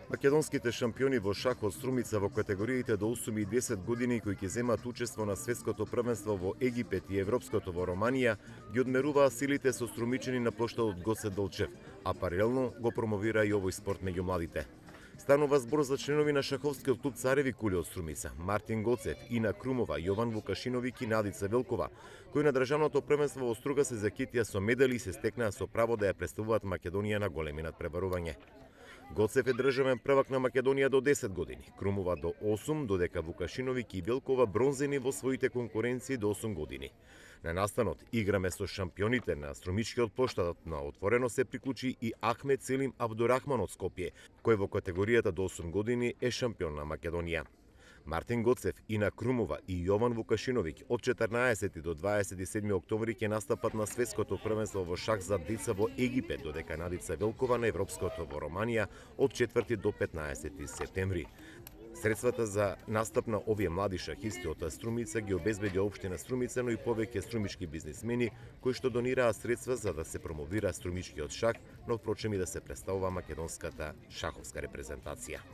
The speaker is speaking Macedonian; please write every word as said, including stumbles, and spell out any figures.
Македонските шампиони во шах од Струмица во категориите до осум и десет години кои ќе земат учество на светското првенство во Египет и европското во Романија ги одмеруваа силите со струмичани на плоштадот Гоце Делчев, а паралелно го промовира и овој спорт меѓу младите. Станува збор за членови на шаховскиот клуб Цареви кули од Струмица, Мартин Гоцев, Ина Крумова, Јован Вукашиновиќ и Надица Велкова, кои на државното првенство во Струга се закитија со медали и се стекнаа со право да ја представуваат Македонија на големи надпреварување. Гоцев е државен првак на Македонија до десет години, Крумова до осум, додека Вукашиновиќ и Велкова бронзени во своите конкуренции до осум години. На настанот играме со шампионите на струмичкиот плоштад на отворено се приклучи и Ахмет Селим Абдурахман од Скопје, кој во категоријата до осум години е шампион на Македонија. Мартин Гоцев, Ина Крумова и Јован Вукашиновиќ од четрнаесети до дваесет и седми октомври ќе настапат на светското првенство во шах за деца во Египет, додека Надица Велкова на европското во Романија од четврти до петнаесети септември. Средствата за настап на овие млади шахисти од Струмица ги обезбеди општина Струмица, но и повеќе струмички бизнисмени кои што донираа средства за да се промовира струмичкиот шах, но впрочем и да се представува македонската шаховска репрезентација.